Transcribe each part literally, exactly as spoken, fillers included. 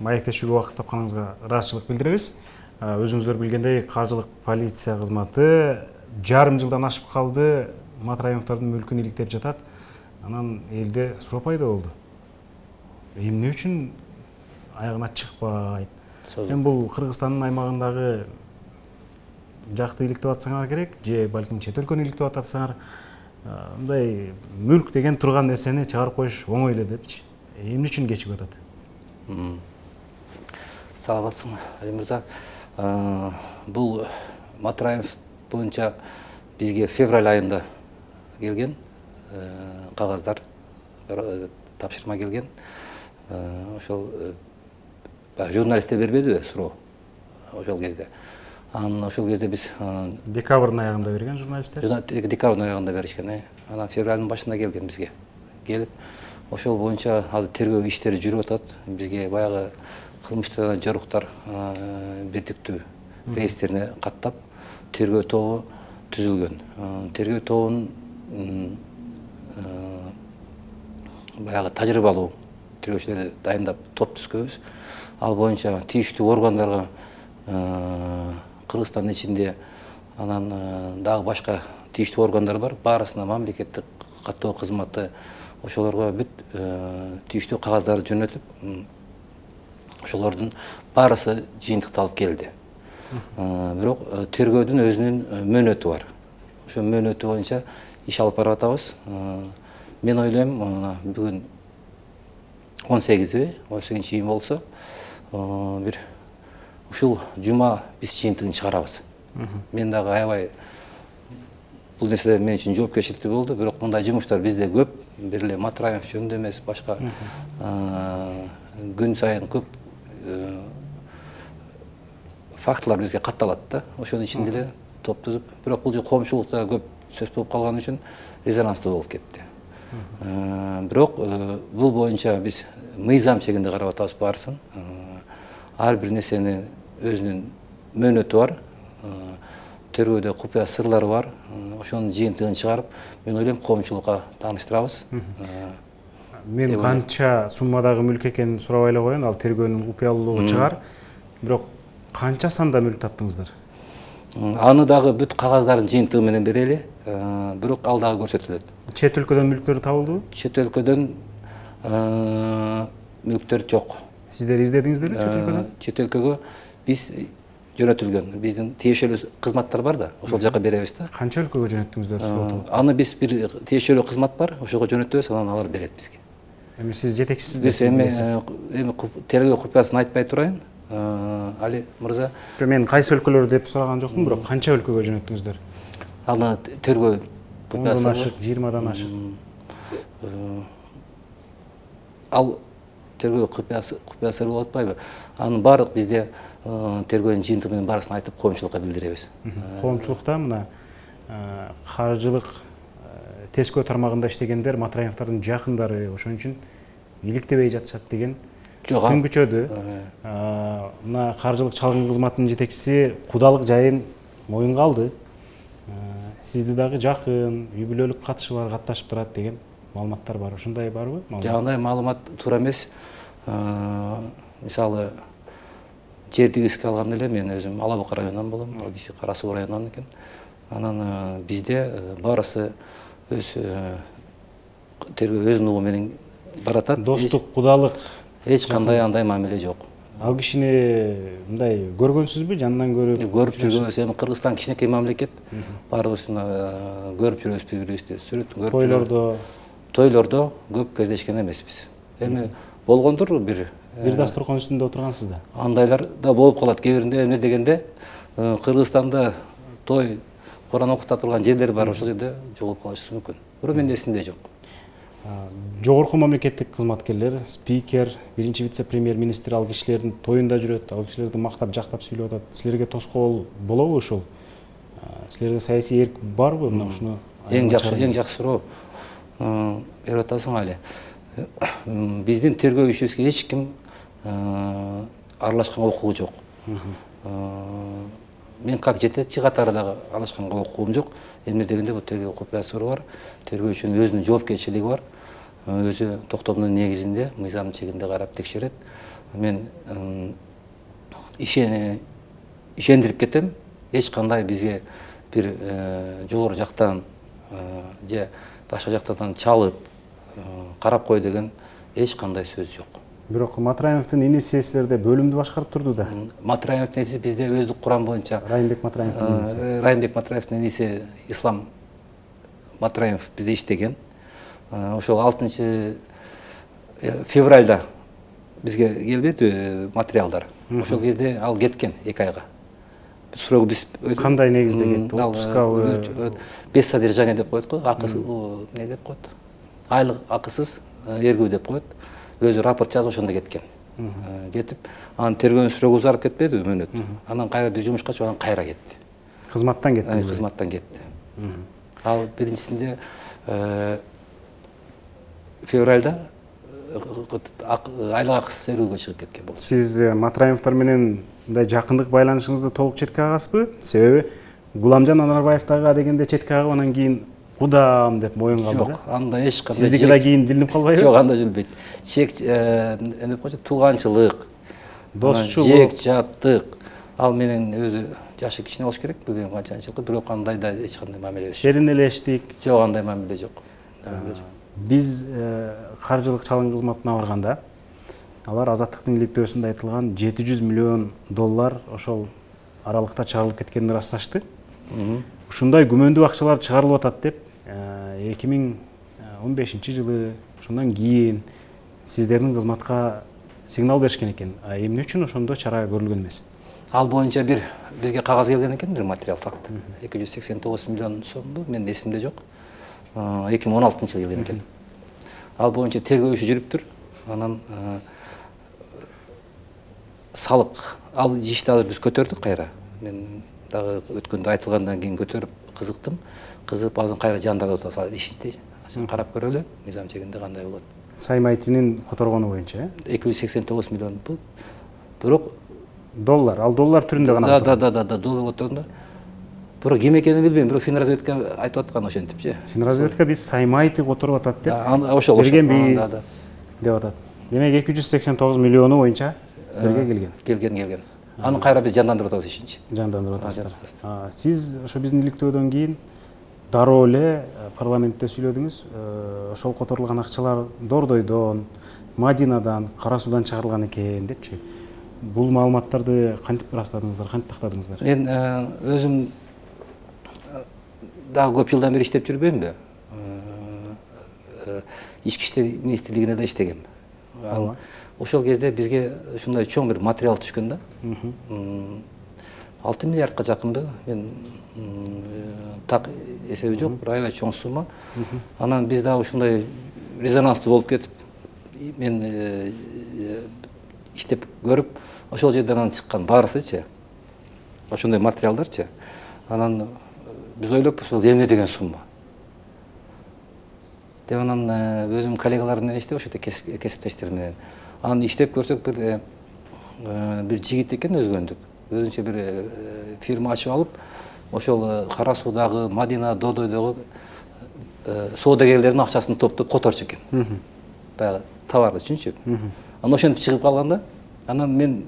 маектешүүгө убакыт тапканыңызга ыраазычылык билдиребиз. Өзүңүздөр билгендей, каржылык полиция кызматы жарым жылдан ашып калды, Матраимовдордун мүлкүн иликтеп жатат. Анан элде суроо пайда болду. Эмне үчүн аягына чыкпайт? Эми бул Кыргызстандын аймагындагы жакты иликтеп атсаңар керек, же балким чет өлкөнү иликтеп атсаңар, мындай мүлк деген турган нерсени чыгарып коюш оңой эле депчи. Эмне үчүн кечигип атат? Саламатсызбы, Али мырза. Бул Матраимов боюнча бизге февраль айында келген кагаздар, тапшырма келген. Ошол журналисттер бербедиби суроо ошол кезде. Анан ошол кезде биз декабрдын аягында берген журналисттер. Декабрдын аягында беришкен. Анан февралдын башында келген бизге. Келип, ошол боюнча азыр тергөө иштери жүрүп атат. Бизге баягы кылмыштардан жоруктар бирдиктүү реестерине каттап тергөө тобу түзүлгөн. Тергөө тобунун баягы тажрыйбалуу тергөөчүлөрдү дайындап топ түзгөнбүз. Ал боюнча тийиштүү органдарга Кыргызстандын ичинде анан дагы башка тийиштүү органдар бар. Баарысына мамлекеттик каттоо кызматы ошолорго бүт тийиштүү кагаздарды жөнөтүп, ошолордун баарысы жыйынтыкталып келди. Бирок тергөөдүн өзүнүн мөөнөтү бар. Ошо мөөнөтү боюнча иш алып барып атабыз. Мен ойлойм, бүгүн он сегизи, он сегизинчи июнь болсо, бир ушул жума биз жыйынтыгын чыгарабыз. Мен дагы аябай бул нерселер мен үчүн жоопкерчиликтүү болду, бирок мындай жумуштар бизде көп, бир эле Матраимов жөнүндө эмес, башка күн сайын көп фактылар бизге катталат да. Ошонун ичинде эле топ түзүп, бирок бул коомчулукта көп сөз болуп калган үчүн резонанстуу болуп кетти. Бирок бул боюнча биз мыйзам чегинде карап атабыз баарысын. Ар бир нерсенин өзүнүн мөөнөтү бар. Тергөөдө купуя сырлары бар. Ошонун жыйынтыгын чыгарып, мен ойлойм коомчулукка тааныштырабыз. Мен канча суммадагы мүлк экенин сурабай эле коеюн, ал тергөөнүн купуялуулугу чыгар. Бирок канча санда мүлк таптыңыздар? Аны дагы бүт кагаздардын жыйынтыгы менен берели, бирок ал дагы көрсөтүлөт. Чет өлкөдөн мүлктөр табылдыбы? Чет өлкөдөн мүлктөр жок. Сиздер издедиңиздерби чет өлкөдөн? Чет өлкөгө биз жөнөтүлгөн. Биздин тиешелүү кызматтар бар да, ошол жака беребиз да. Канча өлкөгө жөнөттүңүздөр? Аны биз бир тиешелүү кызмат бар, ошого жөнөтөбүз, анан алар берет бизге. Эми сиз жетекчисиздер. Биз эми эми тергөө купуясын айтпай турайын, Али мырза. Мен кайсы өлкөлөр деп сураган жокмун, бирок канча өлкөгө жөнөттүңүздөр? Аны тергөө купуясы ашык, жыйырмадан ашык. Ал тергөө купуясы купуясы болуп атпайбы? Анын баардык бизде тергөөнүн жыйынтыгы менен баарысын айтып коомчулукка билдиребиз. Коомчулукта мына каржылык тескөө тармагында иштегендер Матраимовдордун жакындары, ошон үчүн иликтебей жатышат деген сын күчөдү. Мына каржылык чалгын кызматынын жетекчиси кудалык жайын моюнга алды. Сизди дагы жакын, үй бүлөлүк катышы бар, катташып турат деген маалыматтар бар. Ошондой барбы? Жок, андай маалымат туура эмес. Мисалы, жердигиске алганда эле мен өзүм Ала Бука районунан болом, ал киши Кара Суу районунан экен. Анан бизде баарысы өз тергөө өз нугу менен баратат. Достук, кудалык эч кандай андай мамиле жок. Ал кишини мындай көргөнсүзбү, жанынан көрүп? Көрүп жүрбөйбүз. Эми Кыргызстан кичинекей мамлекет. Баарыбыз көрүп жүрөбүз бири-бирибизди. Сүрөтүн көрүп. Тойлордо, тойлордо көп кездешкен эмеспиз. Эми болгондур бир бир дасторкон үстүндө отургансыз да. Андайлар да болуп калат. Кээ биринде эмне дегенде Кыргызстанда той Куран окута турган жерлер бар, ошол жерде жолугуп калышы мүмкүн. Бирок менин эсимде жок. Жогорку мамлекеттик кызматкерлер, спикер, биринчи вице-премьер-министр ал кишилердин тоюнда жүрөт, ал кишилерди мактап, жактап сүйлөп атат. Силерге тоскоол болобу ушул? Силерде саясий эрк барбы? Мына ушуну эң жакшы, эң жакшы суроо берип атасың Али. Биздин тергөө ишибизге эч ким аралашканга укугу жок. Мен как жетекчи катары дагы аралашканга укугум жок. Эмне дегенде бул тергөө купуясы бар. Тергөөчүнүн өзүнүн жоопкерчилиги бар. Өзү токтомдун негизинде, мыйзам чегинде карап текшерет. мен ишендирип кетем, эч кандай бизге бир жогору жактан же башка жактардан чалып карап кой деген эч кандай сөз жок. Бирок Матраевдин иниси силерде бөлүмдү башкарып турду да. Матраевдин иниси бизде өздүк курам боюнча Райымбек Матраевдин иниси. Райымбек Матраевдин иниси Ислам Матраев бизде иштеген. Ошол алтынчы февралда бизге келбеди материалдар. Ошол кезде ал кеткен эки айга. Суроо биз кандай негизде кетти? Отпускабы, без содержания деп коет го, акысыз эмне деп коет? Айлык акысыз эргүү деп коет. Өзү рапорт жазып ошондо кеткен. Кетип, анын тергөө срогу узарып кетпеди мөөнөт. Анан кайра бир жумушка чыгып, анан кайра кетти. Кызматтан кетти. Кызматтан кетти. Ал биринчисинде февралда айлык акысыз эрүүгө чыгып кеткен болду. Сиз Матраевдер менен мындай жакындык байланышыңызды толук четке кагасызбы? Себеби Гуламжан Анарбаевтага дегенде четке кагып, анан кийин кудам деп моюн калды. Жок, анда эч кандай. Сиздики да кийин билинип калбайбы? Жок, анда билбейт. Чек эмне деп коет, тууганчылык, достчулук, жек жаттык. Ал менен өзү жашы кичине болуш керек, билбейм канчанчылык, бирок андай да эч кандай мамиле эмес. Шеринелештик. Жок, андай мамиле жок. Биз каржылык чалым кызматына барганда, алар Азаттыктын иликтөөсүндө айтылган жети жүз миллион доллар ошол аралыкта чыгарылып кеткенин ырасташты. Ушундай күмөндүү акчалар чыгарылып атат деп эки миң он бешинчи жылы ошондон кийин сиздердин кызматка сигнал беришкен экен. А эмне үчүн ошондо чара көрүлгөн эмес? Ал боюнча бир бизге кагаз келген экен, бир материал факт. эки жүз сексен тогуз миллион сомбу, менин эсимде жок. эки миң он алтынчы жылы келген экен. Ал боюнча тергөө иши жүрүптүр. Анан салык, ал ишти азыр биз көтөрдүк кайра. Мен дагы өткөндө айтылгандан кийин көтөрүп кызыктым. Кызыгып азыр кайра жандап атат ишти. Сен карап көрөлү, мыйзам чегинде кандай болот. Саймайтинин которгону боюнча, эки жүз сексен тогуз миллион бул. Бирок доллар, ал доллар түрүндө гана. Да, да, да, да, доллар отурганда. Бирок ким экенин билбейм, бирок Финразведка айтып аткан ошентипчи. Финразведка биз Саймайты которуп атат деп. Ошол берген биз деп атат. Демек эки жүз сексен тогуз миллиону боюнча силерге келген. Келген, келген. Аны кайра биз жандандырып атабыз ишинчи. Жандандырып атасыздар. Сиз ошо биздин иликтөөдөн кийин дароо эле парламентте сүйлөдүңүз. Ошол которулган акчалар Дордойдон, Мадинадан, Кара Суудан чыгарылган экен депчи. Бул маалыматтарды кантип ырастадыңыздар, кантип тактадыңыздар? Мен өзүм дагы көп жылдан бери иштеп жүрбөймбү? Ички иштер министрлигине да иштегем. Ошол кезде бизге ушундай чоң бир материал түшкөн да. алты миллиардка жакынбы? Мен так эсеби жок, бир аябай чоң сумма. Анан биз дагы ушундай резонанстуу болуп кетип, мен иштеп көрүп, ошол жерден анан чыккан баарысычы, ошондой материалдарчы. Анан биз ойлоп, ошол эмне деген сумма. Деп анан өзүм коллегалар менен иштеп, ошо кесиптештер менен. Анан иштеп көрсөк, бир бир жигит экен өзгөндүк. Өзүнчө бир фирма ачып алып, ошол Кара Суудагы, Мадина, Додойдогу соодагерлердин акчасын топтоп которчу экен. Баягы товар үчүнчү. Анан ошентип чыгып калганда, анан мен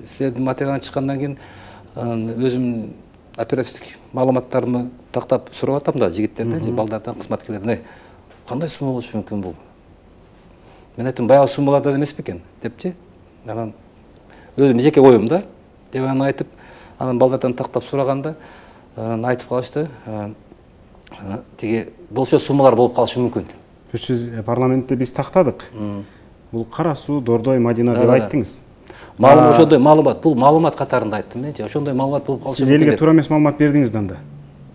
силердин материалдан чыккандан кийин өзүм оперативдик маалыматтарымы тактап сурап атам да жигиттерден, же балдардан, кызматкерлерден. Кандай сумма болушу мүмкүн бул? Мен айттым, баягы суммалардан эмес бекен депчи. Анан өзүм жеке оюм да, деп анан айтып, анан балдардан тактап сураганда, анан айтып калышты. Тиги болчо суммалар болуп калышы мүмкүн. Сиз парламентте биз тактадык. Бул Кара Суу, Дордой, Мадина деп айттыңыз. Маалымат ошондой маалымат, бул маалымат катарында айттым менчи. Ошондой маалымат болуп калышы мүмкүн. Сиз элге туура эмес маалымат бердиңиз да анда.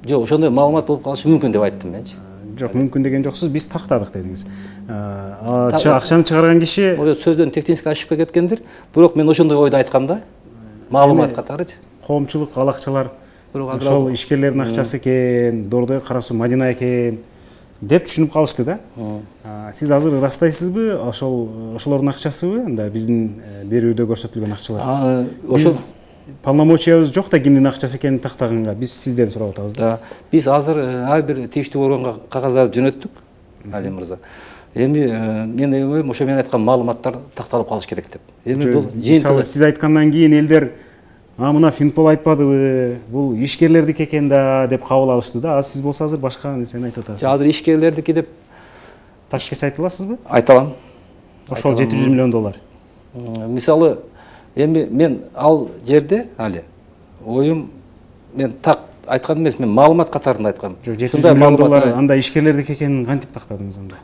Жок, ошондой маалымат болуп калышы мүмкүн деп айттым менчи. Жок, мүмкүн деген жоксуз, биз тактадык дедиңиз. Акчаны чыгарган киши ошо сөздөн технически ошибка кеткендир. Бирок мен ошондой ойду айткам да. Маалымат катарычы. Коомчулук ал акчалар ошол ишкерлердин акчасы экен, Дордой, Кара Суу, Мадина экен деп түшүнүп калышты да. Сиз азыр ырастайсызбы, ошол ошолордун акчасыбы, анда биздин берүүдө көрсөтүлгөн акчалар? Ошол полномочиябыз жок да кимдин акчасы экенин тактаганга, биз сизден сурап атабыз да. Биз азыр ар бир тийиштүү органга кагаздарды жөнөттүк, Али мырза. эми мен ойлойм ошо мен айткан маалыматтар такталып калыш керек деп. Эми бул жыйынтыгы сиз айткандан кийин элдер а мына Финпол айтпадыбы, бул ишкерлердики экен да деп кабыл алышты да. Аз сиз болсо азыр башка нерсени айтып атасыз. Азыр ишкерлердики деп ташкес айта аласызбы? Айта алам. Ошол жети жүз миллион доллар. Мисалы, эми мен ал жерде али оюм мен так айткан эмес, мен маалымат катарында айткам. Жок, жети жүз миллион доллар анда ишкерлердики экенин кантип тактадыңыз анда?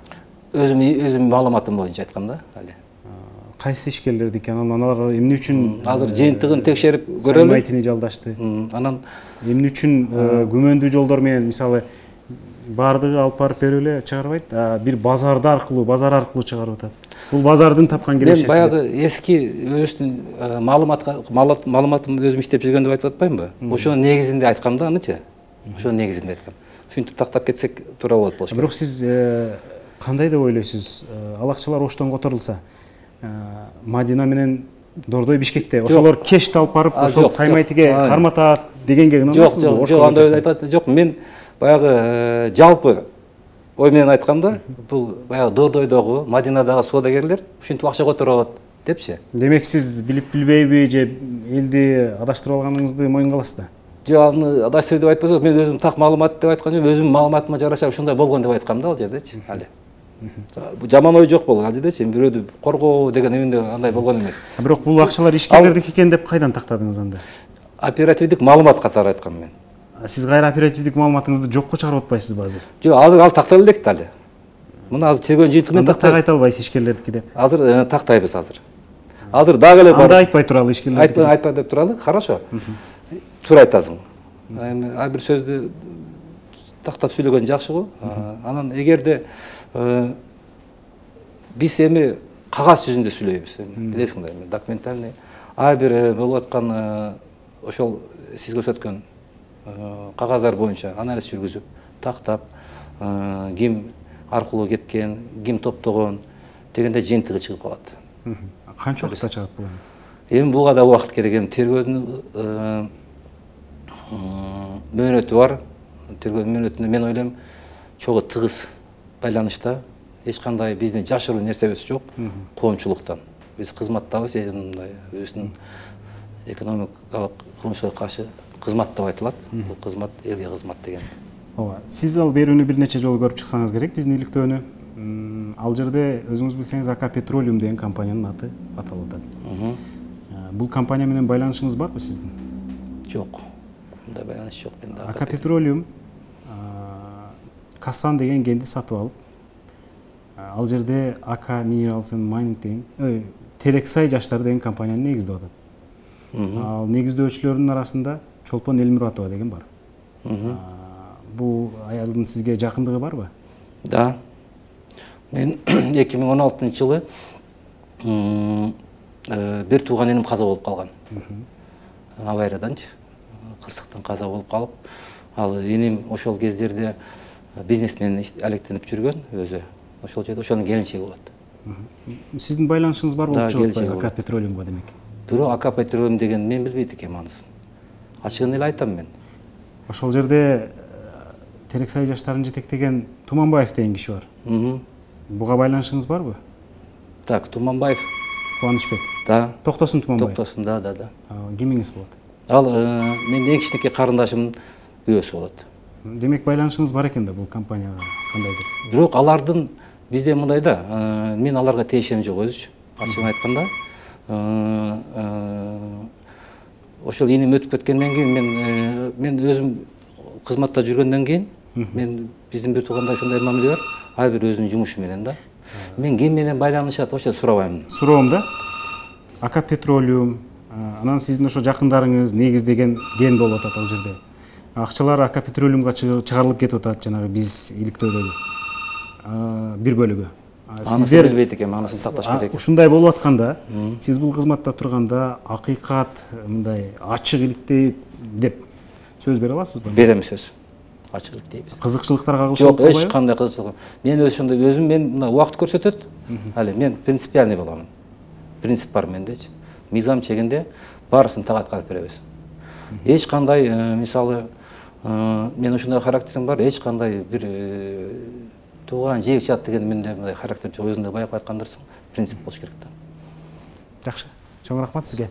Өзүм өзүм маалыматым боюнча айткам да, али. Кайсы ишкерлердики? Анан алар эмне үчүн азыр жыйынтыгын текшерип көрөлү. Сайтын жалдашты. Анан эмне үчүн күмөндүү жолдор менен, мисалы, баардыгы алып барып берип эле чыгарбайт, бир базарды аркылуу, базар аркылуу чыгарып атат. Бул базардын тапкан кирешеси. Мен баягы эски өзүнүн маалыматка маалыматым өзүм иштеп жүргөн деп айтып атпаймынбы? Ошонун негизинде айткам да, анычы. Ошонун негизинде айткам. Ушинтип тактап кетсек туура болот болчу. Бирок сиз кандай деп ойлойсуз? Ал акчалар оштон которулса, Мадина менен Дордой Бишкекте ошолор кешти алып барып, ошол Саймайтиге карматат дегенге ынанасызбы? Жок, жок, андай айтат. Жок, мен баягы жалпы ой менен айткам да, бул баягы Дордойдогу, Мадинадагы соодагерлер ушинтип акча которот депчи. Демек сиз билип билбейби же элди адаштырып алганыңызды моюнга аласыз да? Жок, аны адаштыруу деп айтпасам, мен өзүм так маалымат деп айткан жок, өзүм маалыматыма жараша ушундай болгон деп айткам да ал жердечи, али. Жаман ой жок болгон ал жердечи, бирөөдү коргоо деген эмне андай болгон эмес. Бирок бул акчалар ишкерлердики экен деп кайдан тактадыңыз анда? Оперативдик маалымат катары айткам мен. Сиз кайра оперативдик маалыматыңызды жокко чыгарып атпайсызбы азыр? Жок, азыр ал тактала элек да али. Мына азыр чегөн жыйынтыгы менен тактап айта албайсыз ишкерлердики деп. Азыр тактайбыз азыр. Азыр дагы эле бар. Анда айтпай туралы ишкерлердики. Айтпай, айтпай деп туралы. Хорошо. Туура айтасың. Эми ар бир сөздү тактап сүйлөгөн жакшы го. Анан эгерде биз эми кагаз жүзүндө сүйлөйбүз. Билесиңер, эми документальный ар бир болуп аткан ошол сиз көрсөткөн кагаздар боюнча анализ жүргүзүп, тактап, ким аркылуу кеткен, ким топтогон дегенде жыйынтыгы чыгып калат. Канча убакытта чыгат бул? Эми буга да убакыт керек. Эми тергөөдүн мөөнөтү бар. Тергөөдүн мөөнөтүндө мен ойлойм чогуу тыгыз байланышта, эч кандай биздин жашыруу нерсебиз жок, коомчулуктан. Биз кызматтабыз, мындай өзүнүн экономикалык кылмышка каршы кызмат деп айтылат. Бул кызмат элге кызмат деген. Ооба. Сиз ал берүүнү бир нече жолу көрүп чыксаңыз керек, биздин иликтөөнү. Ал жерде өзүңүз билсеңиз АК Petroleum деген компаниянын аты аталып атат. Бул компания менен байланышыңыз барбы сиздин? Жок. Мындай байланыш жок менде. АК Petroleum Касан деген кенди сатып алып, ал жерде АК Minerals and Mining деген, Терексай жаштар деген компанияны негиздеп атат. Ал негиздөөчүлөрдүн арасында Чолпон Элмуратова деген бар. Бул аялдын сизге жакындыгы барбы? Да. Мен эки миң он алтынчы жылы бир тууган энем каза болуп калган. Аварияданчы, кырсыктан каза болуп калып, ал энем ошол кездерде бизнес менен алектенип жүргөн өзү. Ошол жерде ошонун келинчеги болот. Сиздин байланышыңыз бар болуп чыгат АК Petroleumга демек. Бирок АК Petroleum деген мен билбейт экенмин анысын. Ачыгын эле айтам мен. Ошол жерде Терексай жаштарын жетектеген Туманбаев деген киши бар. Буга байланышыңыз барбы? Так, Туманбаев. Кубанычбек. Да. Токтосун Туманбаев. Токтосун, да, да, да. Кимиңиз болот? Ал менин эң кичинекей карындашымдын күйөөсү болот. Демек байланышыңыз бар экен да бул компанияга кандайдыр? Бирок алардын бизде мындай да, мен аларга тиешем жок өзүчү. Ачыгын айтканда, ошол энем өтүп кеткенден кийин мен мен өзүм кызматта жүргөндөн кийин мен биздин бир тууганда ушундай мамиле бар, ар бир өзүнүн жумушу менен да. Мен ким менен байланышат ошо сурабайм. Суроом да. АК Petroleum, анан сиздин ошо жакындарыңыз негиздеген ген болуп атат ал жерде. Акчалар АК Petroleumга чыгарылып кетип атат, жанагы биз иликтөөдөгү бир бөлүгү. Сиздер билбейт экен, анысын сакташ керек. Ушундай болуп атканда, сиз бул кызматта турганда акыйкат мындай ачык иликтей деп сөз бере аласызбы? Берем сөз. Ачык иликтейбиз. Кызыкчылыктарга кагылышып жок, эч кандай кызыкчылык. Мен өзү ошондой өзүм мен мына убакыт көрсөтөт. Али мен принципиальный боламын. Принцип бар мендечи. Мыйзам чегинде баарысын так аткарып беребиз. Эч кандай мисалы мен ошондой характерим бар, эч кандай бир тууган жээк жат деген менде мындай характер жок, өзүң да баягы айткандырсың, принцип болуш керек да. Жакшы, чоң рахмат сизге.